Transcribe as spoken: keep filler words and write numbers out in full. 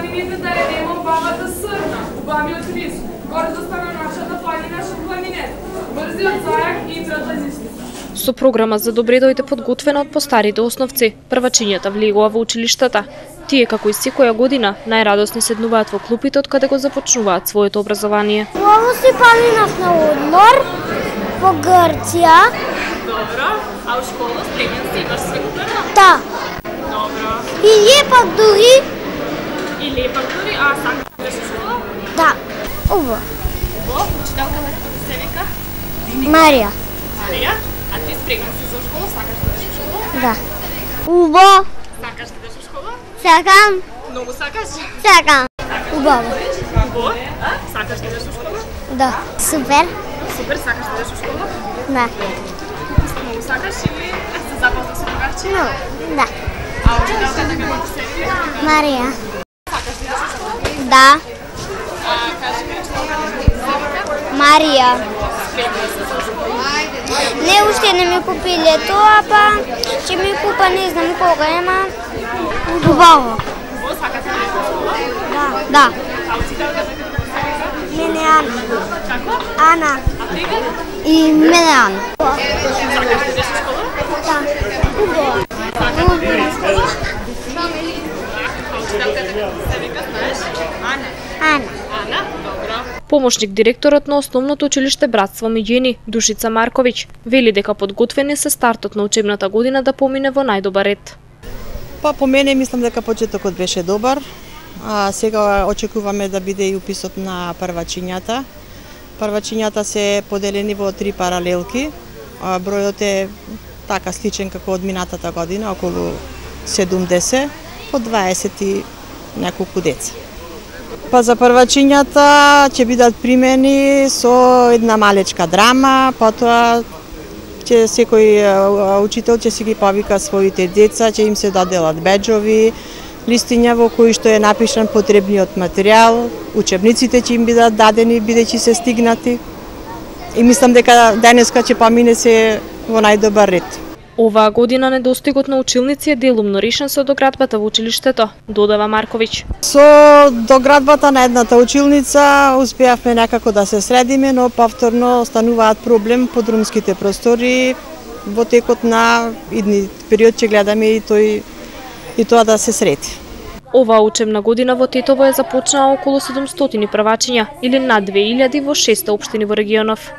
планините да едемо бабата срна, убавиот рис, гордоста на нашата планина Шупланинет, брзиот зајак и идрата лисница. Со програма за добредојде подготвена од постарите основци, првачињата влегува во училиштата. Тие, како и секоја година, најрадосни седнуваат во клупите од каде го започнуваат своето образование. Ово си планинав на одмор во Грција. Добро, а у школа спремен си имаш све купено? Да. Добро. И лепак дури. И лепак дури, а сакаш да идеш у школа? Да. Ово. Ово, учителката како се вика? Марија. Марија, а ти спремен си за школа, сакаш да идеш у школа? Да. Убо. Сакаш да идеш у школа? Сакам. Многу сакаш? Сакам. Убаво. Убаво? Сакаш да идеш у школа? Да. Супер. Супер, сакаш да идеш у школа? Да. Многу сакаш или се запозна со другарче? Ну, да. А учителката како се вика? Марија. Сакаш да идеш у школа? Да. А кажи ми учителката како се вика? Марија. Спремен си за школа? Не, уште не ми купиле тоа, па ќе ми купа не знам кога, ема убаво. Убаво, сакаш да идеш у школа? Да. Да. А учителката како се вика? Мене Ана. Како? Ана. А тебе? И мене Ана. Сакаш да идеш у школа? Да. Убаво. Сакаш да идеш у школа? А учителката како се вика, знаеш? Ана. Ана. Ана, добро. Помошник директорот на основното училиште Братство Миѓени, Душица Марковиќ, вели дека подготвени се стартот на учебната година да помине во најдобар ред. Па по мене мислам дека почетокот беше добар. А сега очекуваме да биде и уписот на првачињата. Првачињата се поделени во три паралелки. А бројот е така сличен како од минатата година, околу седумдесет, по дваесет и неколку деца. Па за првачињата ќе бидат примени со една малечка драма, потоа ќе секој учител ќе си ги повика своите деца, ќе им се доделат беџови, листиња во кои што е напишан потребниот материјал, учебниците ќе им бидат дадени бидејќи се стигнати. И мислам дека денеска ќе помине се во најдобар ред. Оваа година недостигот на училници е делумно решен со доградбата во училиштето, додава Марковиќ. Со доградбата на едната училница успеавме некако да се средиме, но повторно остануваат проблем подрумските простори. Во текот на идни период ќе гледаме и тој и тоа да се среди. Оваа учебна година во Тетово е започнаа околу седумстотини првачиња или над две илјади во шест општини во регионов.